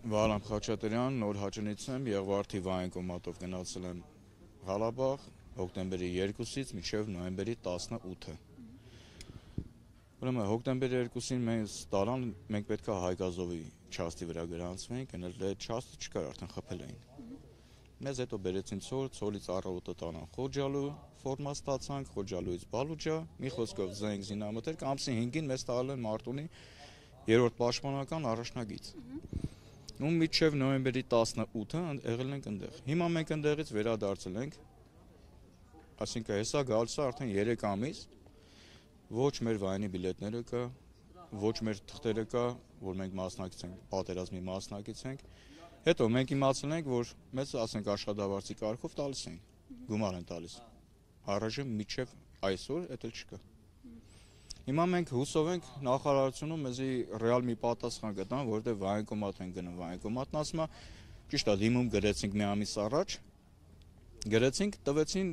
Վարամ Խաչատրյան, նոր հաճանից եմ, Եղվարդի վայնկոմատով գնացել եմ Ղարաբաղ, հոկտեմբերի 2-ից մինչև նոյեմբերի 18-ը։ Ուրեմն հոկտեմբերի 2-ին մեզ տարան, մենք պետք է Հայգազովի չաստի վրա գրանցվենք, այդ չաստը չկար, արդեն խփել էին։ Մեզ հետո բերեցին ցոր, ցորից առավոտը տանան Խոջալու, ֆորմա ստացանք, Խոջալուից Բալուջա, մի խոսքով զենք զինամթերք, ամսի 5-ին մեզ տալել են Մարտունի 3-րդ պաշտպանական առաջնագիծ։ Ու մինչև նոյեմբերի 18-ը եղել ենք այնտեղ։ Հիմա մենք այնտեղից վերադարձել ենք, այսինքն հեսա գալիս է արդեն 3 ամիս, ոչ մեր վայնի բիլետները կա, ոչ մեր թղթերը կա, որ մենք մասնակից ենք, պատերազմի մասնակից ենք։ Հետո մենք իմացել ենք, որ մեզ ասենք աշխատավարձի կարգով տալիս են, գումար են տալիս։ Առայժմ մինչև այսօր դա չկա։ Հիմա մենք հուսով ենք նախարարությունում մեզի ռեալ մի պատասխան գտան, որտեղ վայնկոմատ են գնում, վայնկոմատն ասում է, ճիշտ է, դիմում գրեցինք մի ամիս առաջ, գրեցինք, տվեցին,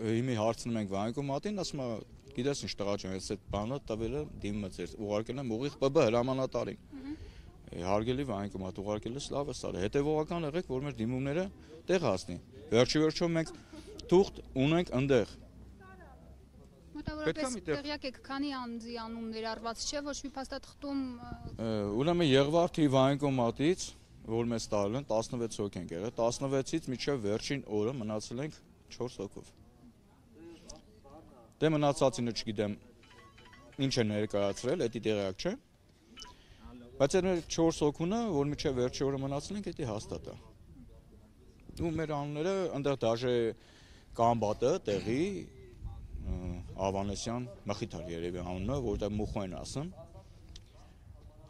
հիմի հարցնում ենք վայնկոմատին, ասում է, գիտես ինչ տղա ջան, այս բանը տվել է դիմը ձեր, ուղարկել եմ ուղիղ ՊԲ հրամանատարին։ Հարգելի վայնկոմատ ուղարկել ես լավ է սարը, հետևողական եղեք, որ մեր դիմումները տեղ հասնի։ Վերջի վերջո մենք թուղթ ունենք այնտեղ։ Մոտավորապես տեղյակ եք, քանի անձի անուն ներառված չէ, ոչ մի փաստաթղթում։ Ուրեմն Եղվարդի վայնկոմատից, որ մեզ տալել են 16 հոգ ենք եղել, 16-ից մինչև վերջին օրը մնացել ենք 4 հոգով։ Դե մնացածինը չգիտեմ ինչ է ներկայացրել, դա տեղյակ չէ։ Բայց այդ 4 հոգունը, որ մինչև վերջի օրը մնացել ենք, դա հաստատ է։ Ու մեր անունները այնտեղ դաժե Կամբատը, տեղի Ավանեսյան Մխիթար երևի անունը, որտեղ Մուխո են ասում։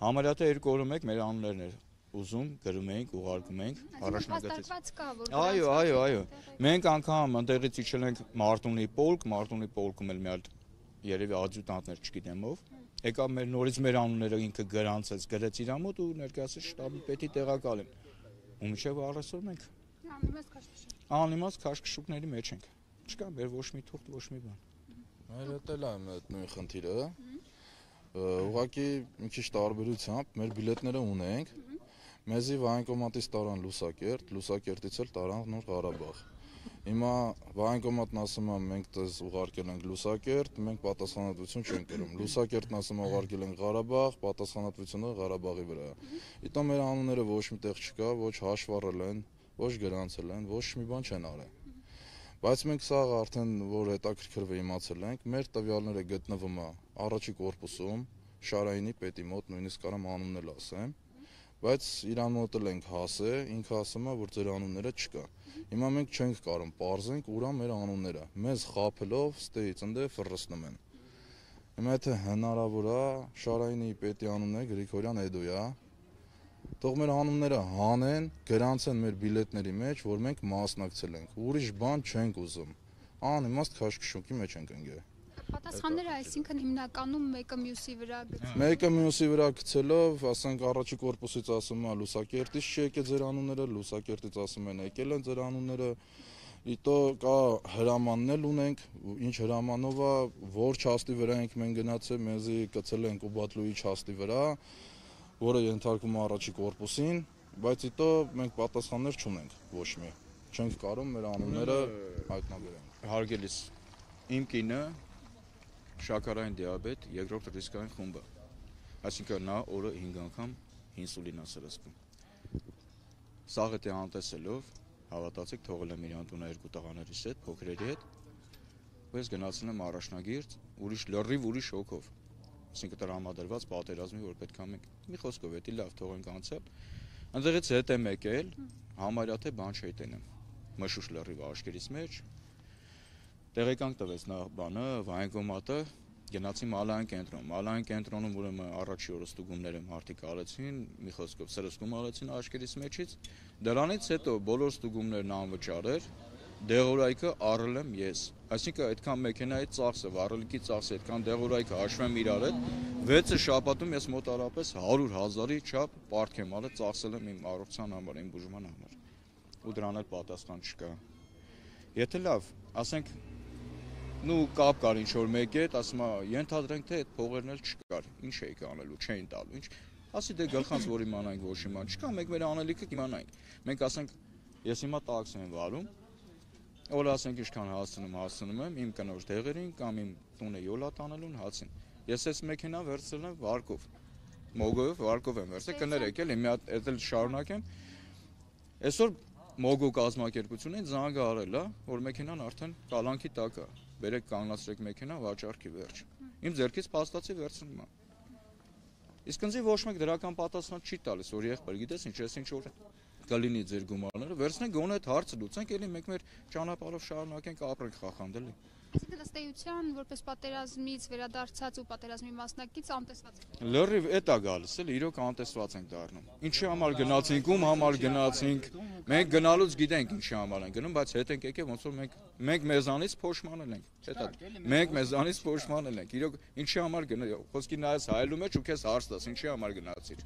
Համարյա թե 2 օրը մեկ մեր անուններն էր ուզում, գրում էինք, ուղարկում էինք առաջնագծից։ Այո։ Մենք անգամ այնտեղից իջել ենք Մարտունի պոլկում էլ մի հատ երևի ադյուտանտներ չգիտեմ ով։ Եկավ մեր նորից մեր անունները ինքը գրանցեց, գրեց իր մոտ ու ներկայացրեց շտաբի պետի տեղակալին։ Ու մինչև առայսօր մենք անիմաստ քաշքշուկների մեջ ենք։ Չկա մեր ոչ մի թուղթ, ոչ մի բան։ Մեր հետ էլ է այդ նույն խնդիրը։ Ուղղակի մի քիչ տարբերությամբ մեր բիլետները ունենք։ Մեզի վայնկոմատից տարան Լուսակերտ, Լուսակերտից էլ տարան Նոր Ղարաբաղ։ Հիմա վայնկոմատն ասում է մենք դες ուղարկել ենք Լուսակերտ, մենք պատասխանատվություն չենք կրում։ Լուսակերտն ասում է ուղարկել ենք Ղարաբաղ, պատասխանատվությունը Ղարաբաղի վրա է։ Իտո մեր անունները ոչ միտեղ չկա, ոչ հաշվառել են, ոչ գրանցել են, ոչ մի բան չեն արել։ Բայց մենք սա արդեն որ հետաքրքրվի իմացել ենք, մեր տվյալները գտնվում է առաջի կորպուսում, Շարայինի պետի մոտ, նույնիսկ կարամ անունն էլ ասեմ, բայց իրան մոտ էլ ենք հասել, ինքը ասում է, որ ձեր անունները չկա։ Հիմա մենք չենք կարող պարզենք ուրա մեր անունները, մեզ խաբելով ստեից ընդե ֆռռցնում են։ Հիմա եթե հնարավոր է, Շարայինի պետի անունն է Գրիգորյան Էդոյա, թող մեր անունները հանեն, գրանցեն մեր բիլետների մեջ, որ մենք մասնակցել ենք։ Ուրիշ բան չենք ուզում։ Անիմաստ քաշքշուկի մեջ ենք ընկել։ Պատասխանները այսինքն հիմնականում մեկը մյուսի վրա գցելով։ Մեկը մյուսի վրա գցելով, ասենք առաջի կորպուսից ասում է Լուսակերտից չեկել ձեր անունները, Լուսակերտից ասում են եկել են ձեր անունները։ Իտո կա հրամանն էլ ունենք, ինչ հրամանով է, որ չաստի վրա ենք մենք գնացել, մեզի գցել են Կուբատլուի չաստի վրա, որը ենթարկվում է առաջի կորպուսին, բայց իտո մենք պատասխաններ չունենք ոչ մի։ Չենք կարող մեր անունները հայտնաբերենք։ Հարգելիս, իմ կինը շաքարային դիաբետ, երկրորդ ռիսկային խումբը։ Այսինքն նա օրը 5 անգամ ինսուլին է սրսկում։ Սաղ էտի անտեսելով, հավատացեք, թողել եմ իրան տունը 2 տղաներիս հետ, փոքրերի հետ, ու ես գնացել եմ առաջնագիրճ, լրիվ ուրիշ հոգով։ Այսինքն տրամադրված պատերազմի, որ պետք է մենք մի խոսքով էտի լավ թողենք անցել։ Այնտեղից հետ եմ եկել, համարյա թե բան չի տենեմ։ Մշուշ լրիվ աշկերից մեջ տեղեկանք տվեց նա բանը, վայնկոմատը, գնացի Մալային կենտրոնում, ուրեմն առաջի օրը ստուգումները մարդիկ արեցին, մի խոսքով սրսկում արեցին աշկերից մեջից, դրանից հետո բոլոր ստուգումներն անվճար էր, դեղորայքը առել եմ ես, այսինքն այդքան մեքենայի ծախսը, վառելիքի ծախսը, այդքան դեղորայքը հաշվեմ իրար հետ, 6 շաբաթում ես մոտարապես 100,000-ի չափ պարտք եմ արել, ծախսել եմ իմ առողջության համար, իմ բուժման համար, ու դրան էլ պատասխան չկա։ Եթե լավ, ասենք նու կապ կար ինչ որ մեկի հետ, ասում է, ենթադրենք թե այդ փողերն էլ չկար, ինչ էիք անելու, չէին տալու, ինչ, ասի դե գլխանց որ իմանանք ոչ իման չկա, մենք մեր անելիքը իմանանք։ Մենք ասենք ես հիմա տաքսի եմ վարում, որ ասենք ինչքան հասցնում եմ իմ կնոջ դեղերին կամ իմ տունը յոլա տանելուն հացին։ Ես այս մեքենան վերցրել եմ վարկով, մոգով, վարկով եմ վերցրել, կներեք էլի, մի հատ էլ շարունակեմ։ Այսօր մոգու կազմակերպությունին զանգ արել է, որ մեքենան արդեն կալանքի տակ է։ Բերեք կանգնացրեք մեքենան վաճառքի վերջ։ Իմ ձեռքից փաստացի վերցնում եմ։ Իսկ ինձ ոչ մեկ դրական պատասխան չի տալիս, որ եղբայր, գիտես ինչ, ես ինչ որ կլինի ձեր գումարները, վերցնենք գոնե այդ հարցը լուծենք, էլի մենք մեր ճանապարհով շարունակենք ապրենք խախանդելի։ Այսինքն ըստ էության, որպես պատերազմից վերադարձած ու պատերազմի մասնակից անտեսված եք։ Լրիվ էդ է գալիս, էլի իրոք անտեսված ենք դառնում։ Ինչի համար գնացինք, ում համար գնացինք, մենք գնալուց գիտենք ինչի համար ենք գնում, բայց հետ ենք եկել ոնց որ մենք մեզանից փոշմանել ենք։ Հետա մենք մեզանից փոշմանել ենք։ Իրոք ինչի համար գնա, խոսքի նայես հայելու մեջ ու քեզ հարց տաս, ինչի համար գնացիր։